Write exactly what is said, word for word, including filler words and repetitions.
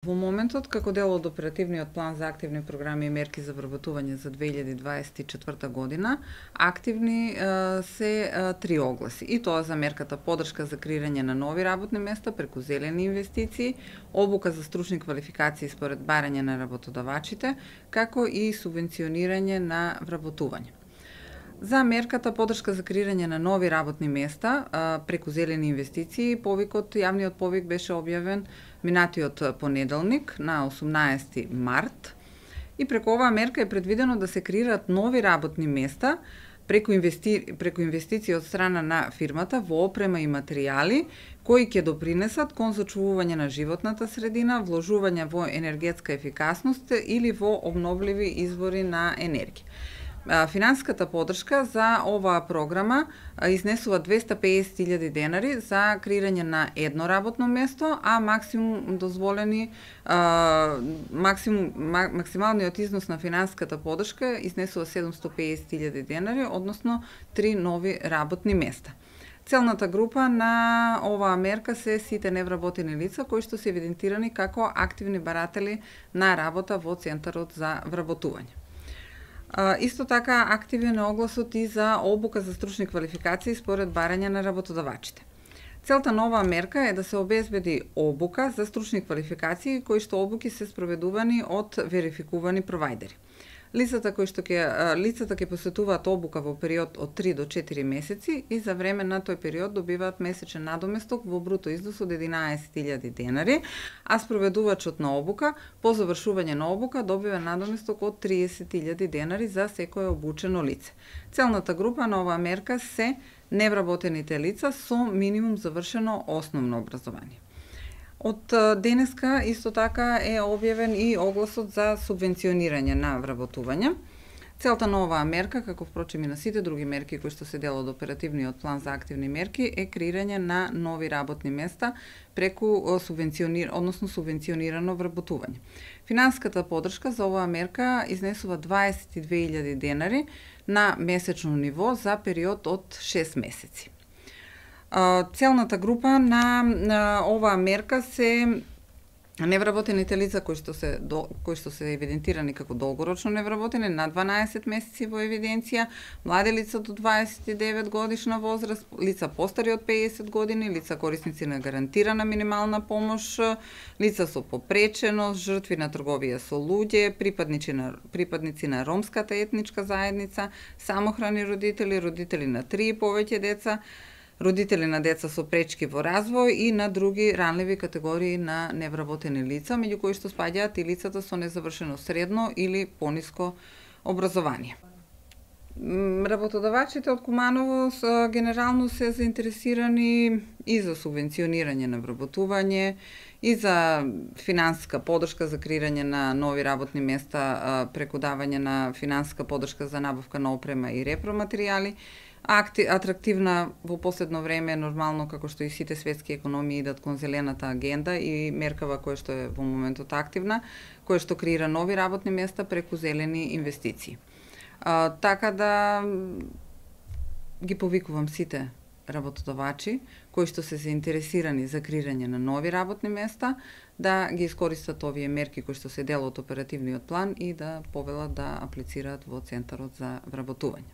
Во моментот, како дел од оперативниот план за активни програми и мерки за вработување за две илјади дваесет и четврта година, активни е, се е, три огласи. И тоа за мерката поддршка за креирање на нови работни места преку зелени инвестиции, обука за стручни квалификации според барање на работодавачите, како и субвенционирање на вработување. За мерката поддршка за креирање на нови работни места преку зелени инвестиции, повикот, јавниот повик беше објавен минатиот понеделник на осумнаесети март и преку оваа мерка е предвидено да се креираат нови работни места преку, инвести... преку инвестиции од страна на фирмата во опрема и материјали кои ќе допринесат кон зачувување на животната средина, вложување во енергетска ефикасност или во обновливи извори на енергија. Финансиската поддршка за оваа програма изнесува двесте и песет илјади денари за креирање на едно работно место, а максимум дозволени максимум максималниот износ на финансиската поддршка изнесува седумстотини и песет илјади денари, односно три нови работни места. Целната група на оваа мерка се сите невработени лица кои што се евидентирани како активни баратели на работа во Центарот за вработување. Uh, исто така активен е огласот и за обука за стручни квалификации според барање на работодавачите. Целта на оваа мерка е да се обезбеди обука за стручни квалификации кои што обуки се спроведувани од верификувани провајдери. Лицата кои што ќе лицата ќе посетуваат обука во период од три до четири месеци и за време на тој период добиваат месечен надоместок во бруто износ од единаесет илјади денари, а спроведувачот на обука по завршување на обука добива надоместок од триесет илјади денари за секое обучено лице. Целната група на оваа мерка се невработените лица со минимум завршено основно образование. Од денеска исто така е објавен и огласот за субвенционирање на вработување. Целта на оваа мерка, како впрочем и на сите други мерки кои што се дел од оперативниот план за активни мерки, е креирање на нови работни места преку субвенционир, односно субвенционирано вработување. Финансиската поддршка за оваа мерка изнесува дваесет и две илјади денари на месечно ниво за период од шест месеци. Целната група на, на оваа мерка се невработените лица кои што се кои што се евидентирани како долгорочно невработени на дванаесет месеци во евиденција, млади лица до дваесет и девет годишна возраст, лица постари од песет години, лица корисници на гарантирана минимална помош, лица со попреченост, жртви на трговија со луѓе, припадници на припадници на ромската етничка заедница, самохрани родители, родители на три и повеќе деца, родители на деца со пречки во развој и на други ранливи категории на невработени лица, меѓу кои што спаѓаат и лицата со незавршено средно или пониско образование. Работодавачите од Куманово генерално се заинтересирани и за субвенционирање на вработување, и за финансиска поддршка за креирање на нови работни места преку давање на финансиска поддршка за набавка на опрема и репроматеријали. Акти, атрактивна во последно време, нормално како што и сите светски економии идат кон зелената агенда и меркава која што е во моментот активна, која што креира нови работни места преку зелени инвестиции. А, така да ги повикувам сите работодавачи кои што се заинтересирани за креирање на нови работни места да ги искористат овие мерки кои што се дел од оперативниот план и да повелат да аплицираат во Центарот за вработување.